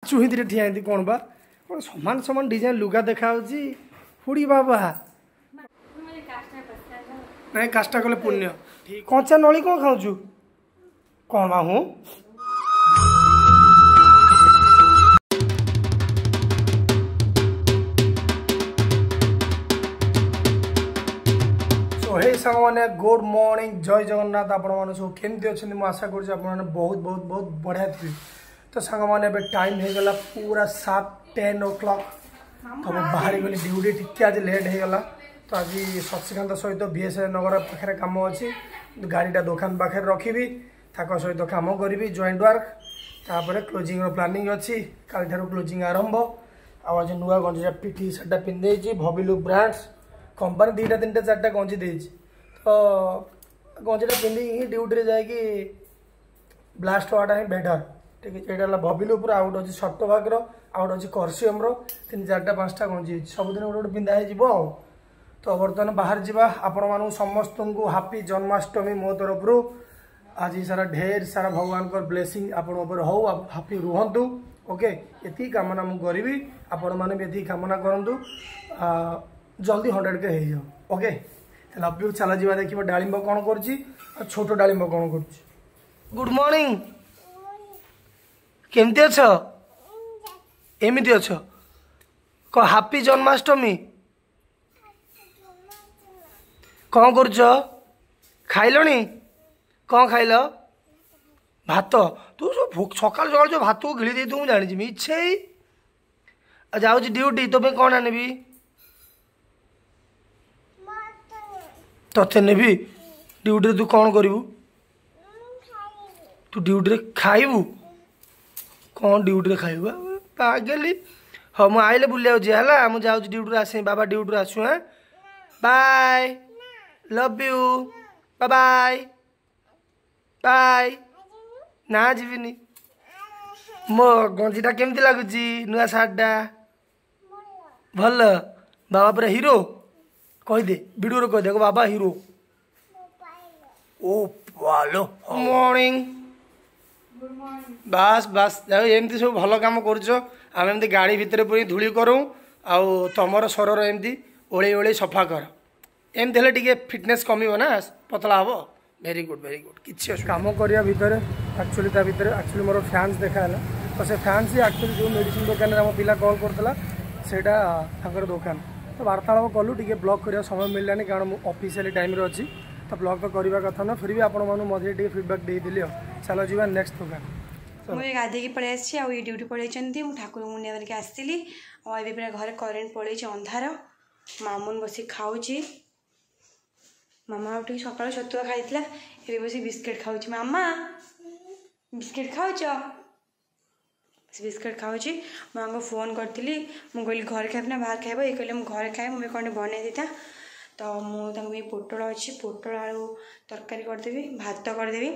ଚୁହିଁଥିରେ ଠିଆ ହେଇନ୍ତି କ'ଣ ବା କ'ଣ ସମାନ ସମାନ ଡିଜାଇନ୍ ଲୁଗା ଦେଖାହେଉଛି। ହୁଡ଼ି ବାବା, ନାଇଁ କାଷ୍ଟା କଲେ ପୁଣ୍ୟ। କଞ୍ଚା ନଳି କ'ଣ ଖାଉଛୁ କ'ଣ ମାମୁଁ? ହେ ସାଙ୍ଗମାନେ, ଗୁଡ୍ ମର୍ଣ୍ଣିଂ, ଜୟ ଜଗନ୍ନାଥ। ଆପଣମାନେ ସବୁ କେମିତି ଅଛନ୍ତି? ମୁଁ ଆଶା କରୁଛି ଆପଣମାନେ ବହୁତ ବହୁତ ବହୁତ ବଢ଼ିଆ ଥିବେ। ତ ସାଙ୍ଗମାନେ, ଏବେ ଟାଇମ୍ ହେଇଗଲା ପୁରା ସାର୍ପ 10 ଓ କ୍ଲକ୍। ତ ମୁଁ ବାହାରି ଗଲି ଡ୍ୟୁଟି, ଟିକେ ଆଜି ଲେଟ୍ ହେଇଗଲା। ତ ଆଜି ଶଶିକାନ୍ତ ସହିତ ବି.ଏସ୍. ନଗର ପାଖରେ କାମ ଅଛି। ଗାଡ଼ିଟା ଦୋକାନ ପାଖରେ ରଖିବି, ତାଙ୍କ ସହିତ କାମ କରିବି ଜଏଣ୍ଟ ୱାର୍କ। ତାପରେ କ୍ଲୋଜିଂର ପ୍ଲାନିଂ ଅଛି, କାଲିଠାରୁ କ୍ଲୋଜିଂ ଆରମ୍ଭ। ଆଉ ଆଜି ନୂଆ ଗଞ୍ଜିଟା ଟି ସାର୍ଟଟା ପିନ୍ଧି ଦେଇଛି, ଭବିଲୁ ବ୍ରାଣ୍ଡସ୍ କମ୍ପାନୀ 2ଟା 3ଟା 4ଟା ଗଞ୍ଜି ଦେଇଛି। ତ ଗଞ୍ଜିଟା ପିନ୍ଧିକି ହିଁ ଡ୍ୟୁଟିରେ ଯାଇକି ବ୍ଲାଷ୍ଟ ହେବାଟା ହିଁ ବେଟର୍। ଠିକ୍ ଅଛି, ଏଇଟା ହେଲା ଭବିଲୁ ଉପରେ, ଆଉ ଗୋଟେ ଅଛି ସପ୍ଟଭାଗର, ଆଉ ଗୋଟେ ଅଛି କରସିୟମର। 3 4ଟା 5ଟା ଗଞ୍ଜି ହେଇଛି, ସବୁଦିନ ଗୋଟେ ଗୋଟେ ପିନ୍ଧା ହେଇଯିବ। ଆଉ ତ ବର୍ତ୍ତମାନ ବାହାରେ ଯିବା। ଆପଣମାନଙ୍କୁ ସମସ୍ତଙ୍କୁ ହାପି ଜନ୍ମାଷ୍ଟମୀ ମୋ ତରଫରୁ। ଆଜି ସାରା ଢେର ସାରା ଭଗବାନଙ୍କର ବ୍ଲେସିଂ ଆପଣଙ୍କ ଉପରେ ହଉ, ହାପି ରୁହନ୍ତୁ। ଓକେ, ଏତିକି କାମନା ମୁଁ କରିବି, ଆପଣମାନେ ବି ଏତିକି କାମନା କରନ୍ତୁ, ଜଲ୍ଦି 100K ହେଇଯାଉ। Okay, love you. ଚାଲ ଯିବା, ଦେଖିବ ଡାଳିମ୍ବ କ'ଣ କରୁଛି ଆଉ ଛୋଟ ଡାଳିମ୍ବ କ'ଣ କରୁଛି। ଗୁଡ୍ ମର୍ଣ୍ଣିଂ, କେମିତି ଅଛ? ଏମିତି ଅଛ? କ ହାପି ଜନ୍ମାଷ୍ଟମୀ। କ'ଣ କରୁଛ? ଖାଇଲଣି? କ'ଣ ଖାଇଲ? ଭାତ। ତୁ ସବୁ ସକାଳୁ ସକାଳୁ ଯେଉଁ ଭାତକୁ ଗିଳି ଦେଇଥିବୁ ମୁଁ ଜାଣିଛି, ମିଛେଇ। ଆଉ ଯାଉଛି ଡ୍ୟୁଟି, ତୋ ପାଇଁ କ'ଣ ଆଣିବି? ତତେ ନେବି ଡ୍ୟୁଟିରେ। ତୁ କ'ଣ କରିବୁ? ତୁ ଡ୍ୟୁଟିରେ ଖାଇବୁ କ'ଣ? ଡ୍ୟୁଟିରେ ଖାଇବୁ ପାଗେଲି। ହଉ, ମୁଁ ଆଇଲେ ବୁଲିବାକୁ ଯିବା, ହେଲା? ମୁଁ ଯାଉଛି ଡ୍ୟୁଟିରୁ ଆସେ, ବାବା ଡ୍ୟୁଟିରୁ ଆସୁ। ହଁ, bye, love you, bye bye. ନା, ଯିବିନି। ମୋ ଗଞ୍ଜିଟା କେମିତି ଲାଗୁଛି? ନୂଆ ସାର୍ଟଟା ଭଲ? ବାବା ପୁରା ହିରୋ କହିଦେ, ଭିଡ଼ିଓରେ କହିଦେ ବାବା ହିରୋ। ଓ ବାଲୋ, ମର୍ଣ୍ଣିଂ। ବାସ୍ ବାସ୍, ଯାଉ ଏମିତି ସବୁ ଭଲ କାମ କରୁଛ। ଆମେ ଏମିତି ଗାଡ଼ି ଭିତରେ ପୁଣି ଧୂଳି କରୁ, ଆଉ ତମର ସରର ଏମିତି ଓଳେଇ ଓଳେଇ ସଫା କର। ଏମିତି ହେଲେ ଟିକେ ଫିଟନେସ୍ କମିବ ନା, ପତଳା ହେବ। Very good, very good. କିଛି କାମ କରିବା ଭିତରେ ଆକ୍ଚୁଆଲି ତା ଭିତରେ ଆକ୍ଚୁଆଲି ମୋର ଫ୍ୟାନ୍ସ ଦେଖା ହେଲା। ତ ସେ ଫ୍ୟାନ୍ସ ଆକ୍ଚୁଆଲି ଯେଉଁ ମେଡ଼ିସିନ ଦୋକାନରେ ଆମ ପିଲା କଲ୍ କରୁଥିଲା, ସେଇଟା ତାଙ୍କର ଦୋକାନ। ତ ବାର୍ତ୍ତାଳାପ କଲୁ, ଟିକେ ବ୍ଲଗ୍ କରିବା ସମୟ ମିଳିଲାନି, କାରଣ ମୁଁ ଅଫିସିଆଲି ଟାଇମ୍ରେ ଅଛି। ତ ବ୍ଲଗ୍ ତ କରିବା କଥା ନା, ଫିର୍ ବି ଆପଣମାନଙ୍କୁ ମଝିରେ ଟିକେ ଫିଡ଼ବ୍ୟାକ୍ ଦେଇଦେଲି। ଆଉ ଚାଲ ଯିବା ନେକ୍ସଟ ଦୋକାନ। ମୁଁ ଏବେ ଗାଧେଇକି ପଳେଇ ଆସିଛି, ଆଉ ଏଇ ଡ୍ୟୁଟି ପଳେଇଛନ୍ତି। ମୁଁ ଠାକୁର ମୁଣ୍ଡିଆ ମାରିକି ଆସିଥିଲି। ଆଉ ଏବେ ପୁରା ଘରେ କରେଣ୍ଟ ପଳେଇଛି, ଅନ୍ଧାର। ମାମୁନ ବସିକି ଖାଉଛି। ମାମା ଆଉ ଟିକେ ସକାଳୁ ଛତୁଆ ଖାଇଥିଲା, ଏବେ ବସି ବିସ୍କିଟ୍ ଖାଉଛି। ମାମା, ବିସ୍କିଟ୍ ଖାଉଛ? ସେ ବିସ୍କିଟ୍ ଖାଉଛି। ମୁଁ ଆଙ୍କୁ ଫୋନ୍ କରିଥିଲି, ମୁଁ କହିଲି ଘରେ ଖାଇବି ନା ବାହାରେ ଖାଇବ? ଇଏ କହିଲେ ମୁଁ ଘରେ ଖାଏ, ମୁଁ ବି କ'ଣ ବନେଇ ଦେଇଥା। ତ ମୁଁ ତାଙ୍କ ପାଇଁ ପୋଟଳ ଅଛି, ପୋଟଳ ଆଳୁ ତରକାରୀ କରିଦେବି, ଭାତ କରିଦେବି,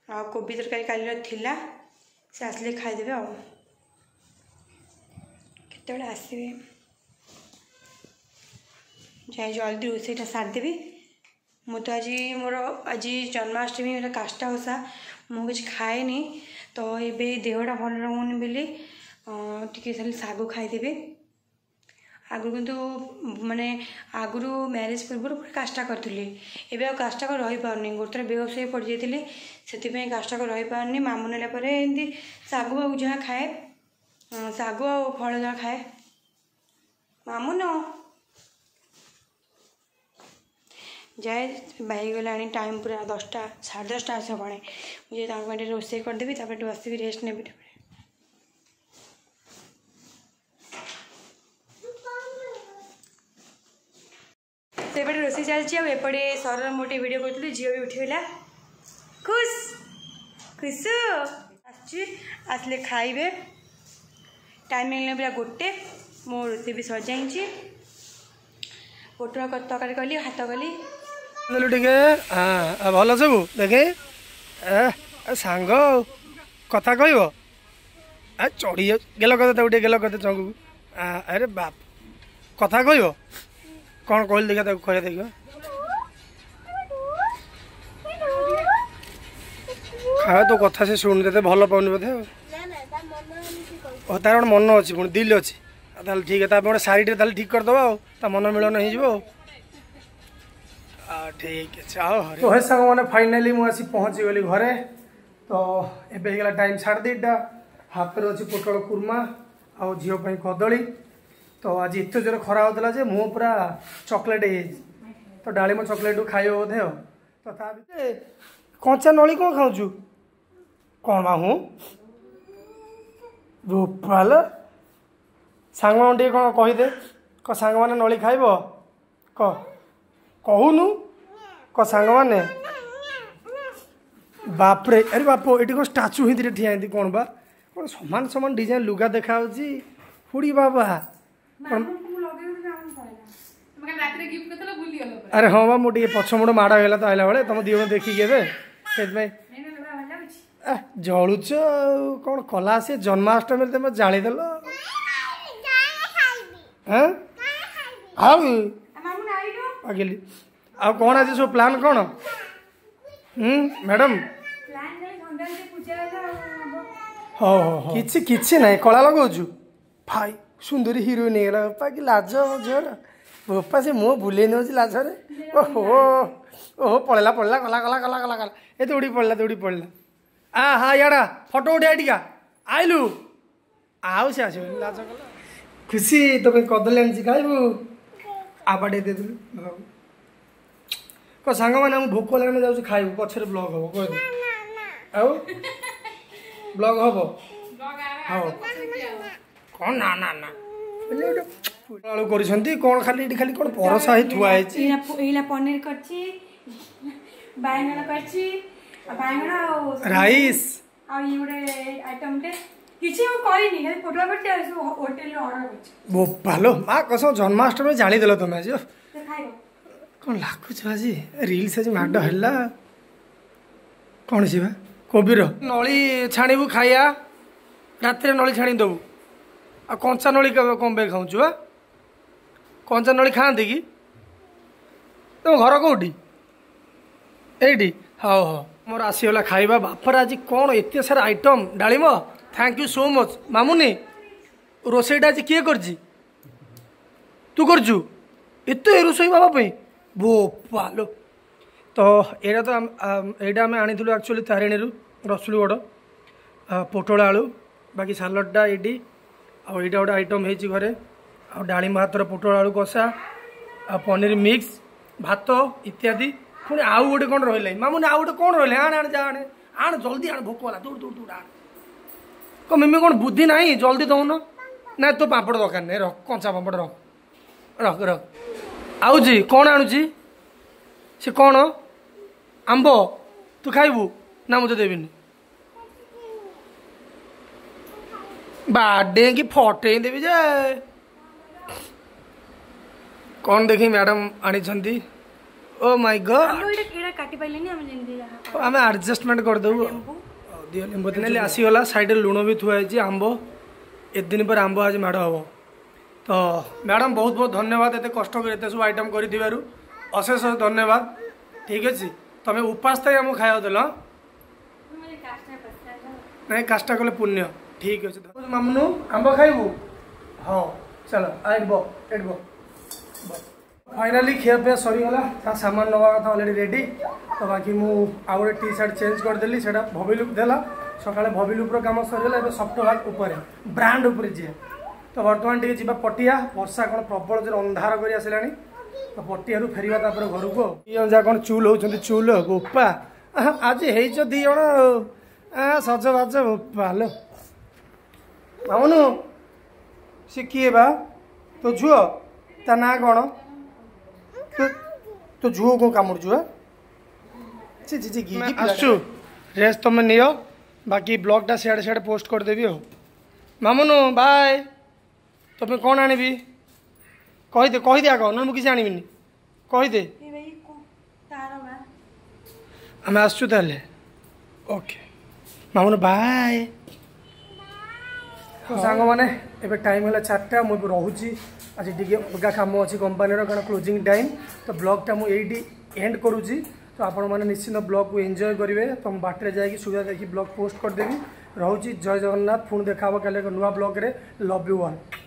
ଆଉ କୋବି ତରକାରୀ କାଲିର ଥିଲା। ସେ ଆସିଲେ ଖାଇଦେବେ। ଆଉ କେତେବେଳେ ଆସିବେ? ଯାଇ ଜଲ୍ଦି ରୋଷେଇଟା ସାରିଦେବି। ମୁଁ ତ ଆଜି ମୋର ଆଜି ଜନ୍ମାଷ୍ଟମୀ, ଏଇଟା କାଷ୍ଟା ଓଷା, ମୁଁ କିଛି ଖାଏନି। ତ ଏବେ ଦେହଟା ଭଲ ରହୁନି ବୋଲି ଟିକେ ଖାଲି ଶାଗୁ ଖାଇଦେବି। ଆଗରୁ କିନ୍ତୁ ମାନେ ଆଗରୁ ମ୍ୟାରେଜ୍ ପୂର୍ବରୁ ପୁରା କାଷ୍ଟା କରିଥିଲି, ଏବେ ଆଉ କାଷ୍ଟା କରି ରହିପାରୁନି। ଗୋଟେ ଥର ବେହୋସ ହେଇ ପଡ଼ିଯାଇଥିଲି, ସେଥିପାଇଁ କାଷ୍ଟା କରି ରହିପାରୁନି। ମାମୁଁ ନେଲା ପରେ ଏମିତି ଶାଗୁ ଆଉ ଯାହା ଖାଏ, ଶାଗୁ ଆଉ ଫଳ ଯାହା ଖାଏ। ମାମୁନ ଯାଏ ହେଇଗଲାଣି ଟାଇମ୍ ପୁରା 10ଟା, 10:30 ଆସିବଣି। ମୁଁ ଯାଇ ତାଙ୍କ ପାଇଁ ଟିକେ ରୋଷେଇ କରିଦେବି, ତାପରେ ଟିକେ ବସିବି, ରେଷ୍ଟ ନେବି। ତାପରେ ସେପଟେ ରୋଷେଇ ଚାଲିଛି, ଆଉ ଏପଟେ ସରର ମୁଁ ଟିକେ ଭିଡ଼ିଓ କରୁଥିଲି। ଝିଅ ବି ଉଠିଗଲା, ଖୁସ୍ ଖୁସୁ ଆସୁଛି, ଆସିଲେ ଖାଇବେ। ଟାଇମ୍ ହେଇଗଲା ପୁରା 1। ମୋ ରୋଷେଇ ବି ସରିଯାଇଛି, ପୋଟଳ ତରକାରୀ କଲି, ଭାତ କଲି। ଟିକେ ଭଲ ସବୁ ଦେଖେ ସାଙ୍ଗ, କଥା କହିବ? ଚଢ଼ି ଗେଲ କଥା, ତାକୁ ଟିକେ ଗେଲ କଥା ଚଙ୍ଗୁକୁ। ଆରେ ବାପ, କଥା କହିବ? କ'ଣ କହିଲି ଦେଖିବା, ତାକୁ କହିବା ଦେଖିବା। ଖାଇବା ତୋ କଥା ସେ ଶୁଣୁନି, ତତେ ଭଲ ପାଉନି ବୋଧେ। ଆଉ ଓ ତାର ଗୋଟେ ମନ ଅଛି, ପୁଣି ଦିଲ୍ ଅଛି। ଆଉ ତାହେଲେ ଠିକ୍, ତା ପାଇଁ ଗୋଟେ ଶାଢ଼ୀଟେ ତାହେଲେ ଠିକ୍ କରିଦେବା, ଆଉ ତା ମନ ମିଳନ ହେଇଯିବ। ଆଉ ଠିକ୍ ଅଛି। ଆଉ ତ ହେ ସାଙ୍ଗମାନେ, ଫାଇନାଲି ମୁଁ ଆସି ପହଞ୍ଚିଗଲି ଘରେ। ତ ଏବେ ହେଇଗଲା ଟାଇମ୍ 2:30। ହାତରେ ଅଛି ପୋଟଳ କୁର୍ମା ଆଉ ଝିଅ ପାଇଁ କଦଳୀ। ତ ଆଜି ଏତେ ଜୋରେ ଖରା ହେଉଥିଲା ଯେ ମୁଁ ପୁରା ଚକୋଲେଟ୍ ହେଇଯାଇଛି। ତ ଡାଳିମ୍ବ ଚକୋଲେଟ୍ ଖାଇବ ବୋଧେ। ଆଉ ତ ତା ଭିତରେ କଞ୍ଚା ନଳି କ'ଣ ଖାଉଛୁ? କ'ଣ ମାମୁଁ ବୋପାଲ, ସାଙ୍ଗମାନଙ୍କୁ ଟିକେ କ'ଣ କହିଦେ। କ ସାଙ୍ଗମାନେ ନଳି ଖାଇବ? କ କହୁନୁ, କ ସାଙ୍ଗମାନେ। ବାପରେ, ଆରେ ବାପ, ଏଠି କ'ଣ ଷ୍ଟାଚୁ ହେଇଥିଲେ ଠିଆ ହେଇନ୍ତି କ'ଣ ବା? କ'ଣ ସମାନ ସମାନ ଡିଜାଇନ୍ ଲୁଗା ଦେଖାଯାଉଛି। ହୁଡ଼ି ବାବା, ଆରେ ହଁ ବା, ମୁଁ ଟିକେ ପଛ ମୁଣ୍ଡ ମାଡ଼ ହେଇଗଲା ତ ଆଇଲା ବେଳେ ତମ ଦି ଜଣ ଦେଖିକି ଏବେ, ସେଥିପାଇଁ ଜଳୁଛ। ଆଉ କ'ଣ କଲା ସେ ଜନ୍ମାଷ୍ଟମୀରେ ତମେ ଜାଳିଦେଲ? ଆଉ ପାଗିଲି। ଆଉ କ'ଣ ଆଜି ସବୁ ପ୍ଲାନ୍ କ'ଣ? ହୁଁ ମ୍ୟାଡ଼ାମ୍, ହଉ ହଉ, କିଛି କିଛି ନାହିଁ। କଳା ଲଗାଉଛୁ ଭାଇ, ସୁନ୍ଦରୀ ହିରୋଇନ୍ ହେଇଗଲା। ବାପା କି ଲାଜ ଝିଅର, ବୋପା ସେ ମୁହଁ ବୁଲେଇ ନେଉଛି ଲାଜରେ। ଓହୋ ଓହୋ, ପଳେଇଲା ପଳେଇଲା, ଗଲା ଗଲା ଗଲା ଗଲା ଗଲା, ଏ ଦୌଡ଼ି ପଳେଇଲା, ଦୌଡ଼ି ପଳେଇଲା। ଆ ହଁ, ଇଆଡ଼ା ଫଟୋ ଉଠେଇ ଟିକା ଆଇଲୁ। ଆଉ ସେ ଆସିବନି, ଲାଜ କଲା। ଖୁସି, ତୋ ପାଇଁ କଦଳୀ ଆଣିଛି, ଖାଇବୁ? ଆବା ଟିକେ ଦେଇଦେଲୁ। କ ସାଙ୍ଗମାନେ, ଆମକୁ ଭୋକ ହେଲାଣି, ଆମେ ଯାଉଛୁ ଖାଇବୁ, ପଛରେ ବ୍ଲଗ୍ ହବ କହିଦେ। ଆଉ ବ୍ଲଗ୍ ହବ? ହଉ, କ'ଣ ନା ନା ନା ଆଳୁ କରିଛନ୍ତି କ'ଣ? ଖାଲି ଏଠି ଖାଲି କ'ଣ ପରସା ହେଇ ଥୁଆ ହେଇଛି। ଏଇଲା ପନିର କରିଛି, ବାଇଗଣ କରିଛି, ବାଇଗଣ ଆଉ ରାଇସ୍, ଆଉ ଇଏ ଗୋଟେ ଆଇଟମଟେ। କିଛି ମୁଁ କରିନି, ଖାଲି ପୋଟଳ କରିଛି ଆଉ ସବୁ ହୋଟେଲରୁ ଅର୍ଡର କରିଛି। ବୋପାଲୋ ମା କସମ, ଜନ୍ମାଷ୍ଟମୀ ଜାଳିଦେଲ ତମେ ଆଜି। ଖାଇବ କ'ଣ ଲାଗୁଛ ଆଜି? ରିଲ୍ସ ଆଜି ମାଡ଼ ହେଲା। କ'ଣ ଯିବା କୋବିର ନଳି ଛାଣିବୁ ଖାଇବା? ରାତିରେ ନଳି ଛାଣି ଦେବୁ। ଆଉ କଞ୍ଚା ନଳି କ'ଣ ପାଇଁ ଖାଉଛୁ ବା? କଞ୍ଚା ନଳି ଖାଆନ୍ତି କି? ତମ ଘର କେଉଁଠି? ଏଇଠି? ହଉ ହଉ, ମୋର ଆସିଗଲା ଖାଇବା। ବାପରେ, ଆଜି କ'ଣ ଏତେ ସାରା ଆଇଟମ୍। ଡାଳିମ୍ବ, thank you so much. Mamuni, ରୋଷେଇଟା ଆଜି କିଏ କରିଛି? ତୁ କରିଛୁ ଏତେ ରୋଷେଇ ବାବା ପାଇଁ? ବୋପାଲୋ। ତ ଏଇଟା ତ ଏଇଟା ଆମେ ଆଣିଥିଲୁ ଆକ୍ଚୁଆଲି ତାରିଣୀରୁ, ରସୁଲଗଡ଼, ପୋଟଳ ଆଳୁ, ବାକି ସାଲଡ଼ଟା ଏଇଠି। ଆଉ ଏଇଟା ଗୋଟେ ଆଇଟମ୍ ହେଇଛି ଘରେ। ଆଉ ଡାଳିମ୍ବ ହାତର ପୋଟଳ ଆଳୁ କଷା ଆଉ ପନିର ମିକ୍ସ, ଭାତ ଇତ୍ୟାଦି। ପୁଣି ଆଉ ଗୋଟେ କ'ଣ ରହିଲା ମାମୁନି? ଆଉ ଗୋଟେ କ'ଣ ରହିଲା? ଆଣେ ଆଣେ, ଯା ଆଣେ ଆଣ, ଜଲ୍ଦି ଆଣ, ଭୋକ ହେଲା, ଦୌଡ଼ ଦୌଡ଼ ଦୌଡ଼ ଆଣ। କଣ ମିମି, କ'ଣ ବୁଦ୍ଧି ନାହିଁ? ଜଲ୍ଦି ଦଉନ ନା। ତୋ ପାମ୍ପଡ଼ ଦରକାର ନାହିଁ, ରଖ କଞ୍ଚା ପାମ୍ପଡ଼, ରଖ ରଖ ରଖ। ଆଉଛି କ'ଣ ଆଣୁଛି ସେ? କ'ଣ ଆମ୍ବ ତୁ ଖାଇବୁ ନା? ମୁଁ ତ ଦେବିନି, ବାଡେଇକି ଫଟେଇ ଦେବି ଯେ। କ'ଣ ଦେଖି ମ୍ୟାଡ଼ାମ୍ ଆଣିଛନ୍ତି? ଓ ମାଇ ଗଡ୍, ଆମେ ଆଡ଼ଜଷ୍ଟମେଣ୍ଟ କରିଦେବୁ। ଦିଅ ଲେମ୍ବୁ ନେଲେ ଆସିଗଲା। ସାଇଡ଼ରେ ଲୁଣ ବି ଥୁଆ ହେଇଛି। ଆମ୍ବ, ଏତେ ଦିନ ପରେ ଆମ୍ବ ଆଜି ମାଡ଼ ହେବ। ତ ମ୍ୟାଡ଼ାମ୍, ବହୁତ ବହୁତ ଧନ୍ୟବାଦ, ଏତେ କଷ୍ଟ କରି ଏତେ ସବୁ ଆଇଟମ୍ କରିଥିବାରୁ ଅଶେଷ ଧନ୍ୟବାଦ। ଠିକ୍ ଅଛି, ତମେ ଉପାସ ଥାଇ ଆମକୁ ଖାଇବାକୁ ଦେଲ। ନାଇଁ, କାଷ୍ଟା କଲେ ପୁଣ୍ୟ। ଠିକ୍ ଅଛି ମାମୁନୁ, ଆମ୍ବ ଖାଇବୁ? ହଉ ଚାଲ, ଏଇଠି ବ, ଏଇଠି ବ। ଫାଇନାଲି ଖିଆପିଆ ସରିଗଲା। ତା ସାମାନ ନେବା କଥା ଅଲରେଡ଼ି ରେଡ଼ି। ତ ବାକି ମୁଁ ଆଉ ଗୋଟେ ଟି ସାର୍ଟ ଚେଞ୍ଜ କରିଦେଲି, ସେଇଟା ଭବିଲୁପ୍ ଦେଲା। ସକାଳେ ଭବିଲୁପ୍ର କାମ ସରିଗଲା, ଏବେ ସଫ୍ଟୱାର୍କ ଉପରେ, ବ୍ରାଣ୍ଡ ଉପରେ ଯିଏ। ତ ବର୍ତ୍ତମାନ ଟିକେ ଯିବା ପଟିଆ। ବର୍ଷା କ'ଣ ପ୍ରବଳ ଜୋରେ ଅନ୍ଧାର କରି ଆସିଲାଣି। ତ ପଟିଆରୁ ଫେରିବା ତାପରେ ଘରକୁ। ଆଉ ଦି ଜଣ ଯାକ କ'ଣ ଚୁଲ ହେଉଛନ୍ତି, ଚୁଲ। ବୋପା, ଆଜି ହେଇଛ ଦି ଜଣ ସଜବାଜ। ବୋପା ଲୋ। ମାମୁନୁ, ସେ କିଏ ବା? ତୋ ଝୁଅ? ତା ନାଁ କ'ଣ? ତୋ ଝୁଅ କ'ଣ କାମୁଡ଼ୁଛୁ? ବା ଆସୁଛୁ, ରେଷ୍ଟ ତମେ ନିଅ, ବାକି ବ୍ଲଗ୍ଟା ସିଆଡ଼େ ସିଆଡ଼େ ପୋଷ୍ଟ କରିଦେବି। ଆଉ ମାମୁନୁ ବାଏ। ତମେ କ'ଣ ଆଣିବି କହିଦେ, କହିଦେ ଆଗ, ନହେଲେ ମୁଁ କିଛି ଆଣିବିନି, କହିଦେ। ଆମେ ଆସୁଛୁ ତାହେଲେ। ଓକେ ମାମୁନୁ, ବାଏ। ସାଙ୍ଗମାନେ, ଏବେ ଟାଇମ୍ ହେଲା 4ଟା। ମୁଁ ଏବେ ରହୁଛି, ଆଜି ଟିକେ ଅଲଗା କାମ ଅଛି କମ୍ପାନୀର, କାରଣ କ୍ଲୋଜିଂ ଟାଇମ୍। ତ ବ୍ଲଗ୍ଟା ମୁଁ ଏଇଠି ଏଣ୍ଡ କରୁଛି। ତ ଆପଣମାନେ ନିଶ୍ଚିନ୍ତ ବ୍ଲଗ୍କୁ ଏନ୍ଜୟ କରିବେ। ତ ମୁଁ ବାଟରେ ଯାଇକି ସୁବିଧା ଦେଖି ବ୍ଲଗ୍ ପୋଷ୍ଟ କରିଦେବି। ରହୁଛି, ଜୟ ଜଗନ୍ନାଥ। ପୁଣି ଦେଖା ହେବ କାଲି ଏକ ନୂଆ ବ୍ଲଗ୍ରେ। Love you all.